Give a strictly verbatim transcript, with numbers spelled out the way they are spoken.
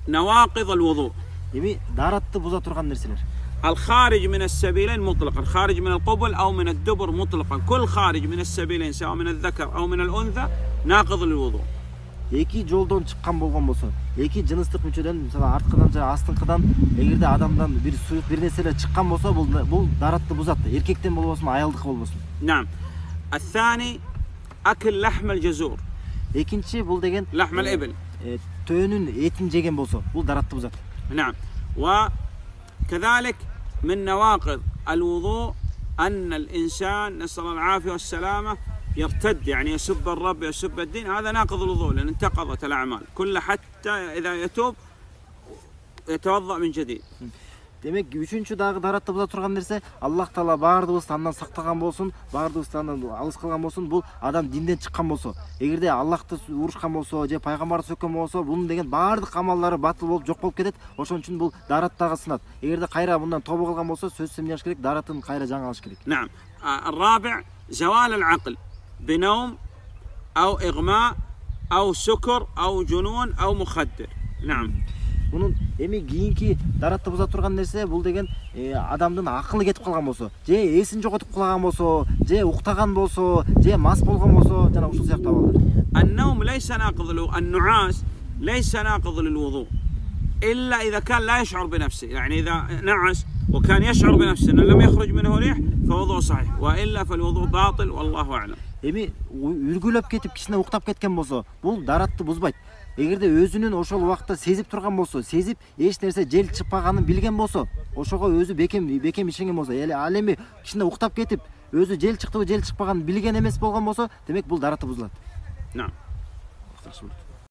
نواقض الوضوء. Эми даратты буза турган нерселер. الخارج من السبيلين مطلقا، خارج من القبل أو من الدبر مطلقا، كل خارج من السبيلين سواء من الذكر أو من الأنثى ناقض للوضوء. Эки жолдон чыккан болгон болсо, эки жыныстык мүчөдөн, мисалы арткыдан же астыңкыдан эгерде адамдан бир суюк бир нерселер чыккан болсо, бул бул даратты бузат. Эркектен болбосун, аялдыкы болбосун. نعم. الثاني أكل لحم الجزور. Экинчи бул деген لحم الإبل. Төөнүн этин жеген болсо, бул даратты бузат. نعم. وكذلك من نواقض الوضوء أن الإنسان نسأل الله العافية والسلامة يرتد، يعني يسب الرب يسب الدين، هذا ناقض الوضوء لأن انتقضت الأعمال كلها حتى إذا يتوب يتوضأ من جديد. Демек, үчүнчү дагы даратты буза турган нерсе, Аллах Таала баардыгыбызды андан сактаган болсун, баардыгыбызды андан алыс кылган болсун, бул адам динден чыккан болсо, эгерде Аллахты урушкан болсо, же пайгамбарды сөккөн болсо, бунун деген баардык амалдары батыл болуп жок болуп кетет. Ошон үчүн бул дараттагы сынат. Эгерде кайра мындан тобо кылган болсо, сөзсүз эмне кылыш керек? Даратын кайра жаңы алыш керек. نعم. الرابع زوال العقل بنوم أو إغماء أو سكر أو جنون أو مخدر. نعم. Bunun эми кийинки даратты буза турган нерсе бул деген адамдын акылы кетип калган болсо, же эсин жоготуп калаган болсо, же уктаган болсо, же мас болгон болсо, жана ушул сыяктуу абалдар. النوم ليس ناقض للوضوء، النعاس ليس ناقض للوضوء إلا إذا كان لا يشعر بنفسه، يعني إذا نعس وكان يشعر بنفسه أنه لم يخرج منه ريح فوضوء صحيح، وإلا فالوضوء باطل والله أعلم. Эми үргүлөп кетип кичине уктап кеткен болсо, бул даратты бузбайт. Эгерде өзүнүн ошол убакта сезип турган болсо, сезип эч нерсе жел чыкпаганын билген болсо, ошого өзү бекем бекем ишенген болсо, ал эми кичине уктап кетип, өзү жел чыктыбы, жел чыкпаганын билген эмес болгон болсо, демек бул даратты бузулат. نعم.